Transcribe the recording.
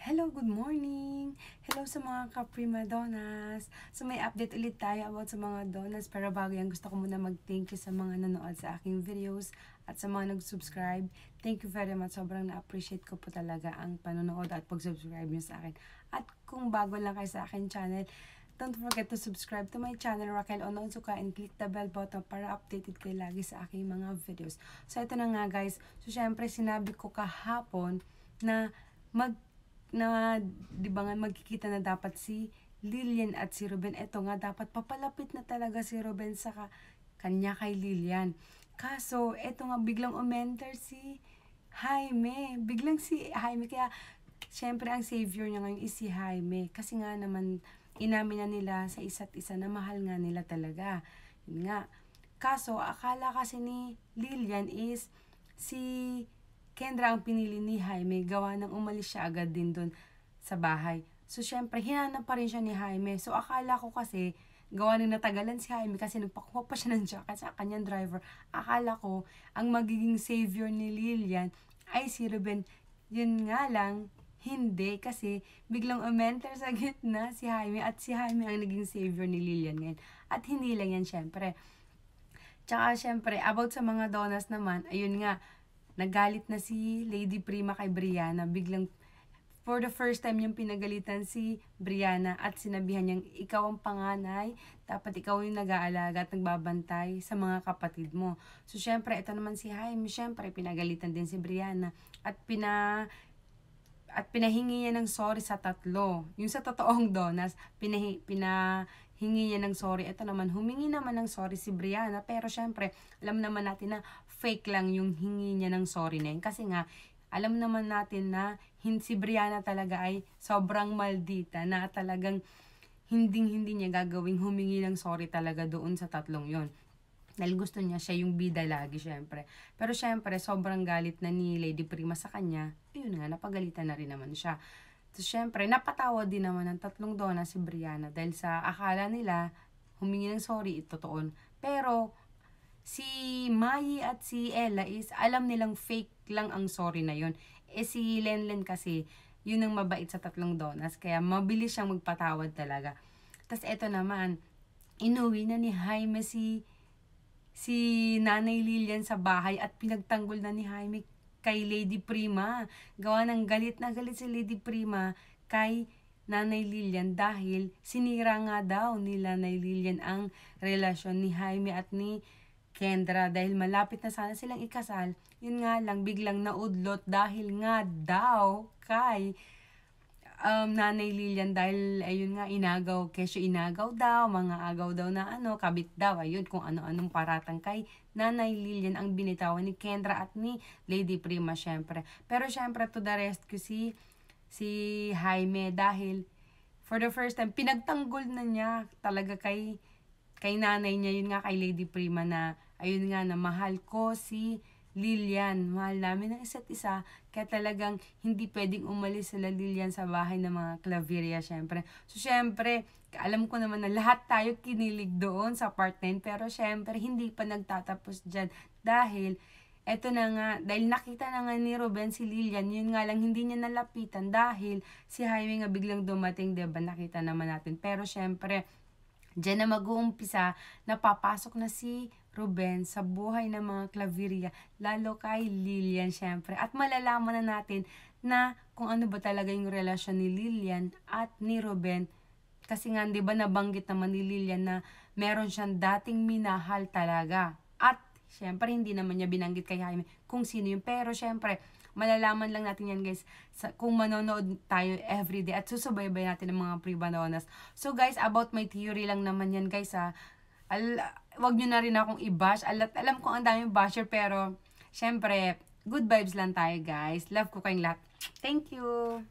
Hello, good morning! Hello sa mga ka-prima donas! So may update ulit tayo about sa mga donas, pero bago yan gusto ko muna mag-thank you sa mga nanood sa aking videos at sa mga nag-subscribe. Thank you very much, sobrang na-appreciate ko po talaga ang panonood at pag-subscribe nyo sa akin. At kung bago lang kayo sa akin channel, don't forget to subscribe to my channel, Raquel Ononsuka, and click the bell button para updated kayo lagi sa aking mga videos. So ito na nga guys, so syempre sinabi ko kahapon na di ba nga magkikita na dapat si Lilian at si Ruben. Eto nga, dapat papalapit na talaga si Ruben sa kanya kay Lilian. Kaso, eto nga, biglang umenter si Jaime. Biglang si Jaime, kaya syempre ang savior niya ngayon is si Jaime. Kasi nga naman, inamin na nila sa isa't isa na mahal nga nila talaga. Yun nga. Kaso, akala kasi ni Lilian is si Kendra ang pinili ni Jaime, gawa ng umalis siya agad din doon sa bahay. So, syempre, hinanap pa rin siya ni Jaime. So, akala ko kasi, gawa ng natagalan si Jaime kasi nagpakuha pa siya ng jacket sa kanyang driver. Akala ko, ang magiging savior ni Lilian ay si Ruben. Yun nga lang, hindi. Kasi, biglang umenter sa gitna si Jaime at si Jaime ang naging savior ni Lilian ngayon. At hindi lang yan, syempre. Tsaka, syempre, about sa mga donas naman, ayun nga, nagalit na si Lady Prima kay Brianna. Biglang, for the first time yung pinagalitan si Brianna at sinabihan niyang ikaw ang panganay, dapat ikaw yung nag-aalaga at nagbabantay sa mga kapatid mo. So, syempre, ito naman si Jaime, syempre, pinagalitan din si Brianna at pinahingi niya ng sorry sa tatlo. Yung sa totoong donas, pinahingi niya ng sorry. Ito naman, humingi naman ng sorry si Brianna. Pero syempre, alam naman natin na fake lang yung hingi niya ng sorry na yun. Kasi nga, alam naman natin na si Brianna talaga ay sobrang maldita na talagang hindi niya gagawing humingi ng sorry talaga doon sa tatlong yon. Dahil gusto niya siya yung bida lagi, syempre. Pero syempre, sobrang galit na ni Lady Prima sa kanya. Ayun nga, napagalitan na rin naman siya. So, syempre, napatawa din naman ng tatlong dona si Brianna. Dahil sa akala nila, humingi ng sorry, totoo. Pero, si Mai at si Ella is, alam nilang fake lang ang sorry na yon. Si Lenlen kasi, yun ang mabait sa tatlong donas. Kaya, mabilis siyang magpatawad talaga. Tapos, eto naman, inuwi na ni Jaime si Nanay Lilian sa bahay at pinagtanggol na ni Jaime kay Lady Prima. Gawa ng galit na galit si Lady Prima kay Nanay Lilian dahil sinira nga daw ni Nanay Lilian ang relasyon ni Jaime at ni Kendra dahil malapit na sana silang ikasal. Yun nga lang, biglang naudlot dahil nga daw kay Nanay Lilian dahil ayun nga kesyo inagaw daw, mga agaw daw na kabit daw, ayun kung ano-anong paratang kay Nanay Lilian ang binitawan ni Kendra at ni Lady Prima syempre. Pero syempre to the rescue si Jaime dahil for the first time pinagtanggol na niya talaga kay nanay niya, yun nga kay Lady Prima na ayun nga na mahal ko si Lilian, mahal namin ng isa't isa, kaya talagang hindi pwedeng umalis sila Lilian sa bahay ng mga Claveria, syempre. So, syempre, alam ko naman na lahat tayo kinilig doon sa part 9, pero syempre, hindi pa nagtatapos dyan dahil, eto na nga, dahil nakita na nga ni Ruben si Lilian, yun nga lang, hindi niya nalapitan dahil si Jaime nga biglang dumating, diba, nakita naman natin. Pero syempre, diyan na mag-uumpisa, napapasok na si Ruben sa buhay ng mga Claveria, lalo kay Lilian syempre. At malalaman na natin na kung ano ba talaga yung relasyon ni Lilian at ni Ruben. Kasi nga, di ba nabanggit naman ni Lilian na meron siyang dating minahal talaga. At syempre, hindi naman niya binanggit kay Jaime kung sino yun. Pero syempre, malalaman lang natin yan guys kung manonood tayo everyday at susubaybay natin ng mga pre-bananas. So guys, about my theory lang naman yan guys wag nyo na rin akong i-bash. Alam ko ang daming basher pero syempre, good vibes lang tayo guys. Love ko kayong lahat. Thank you!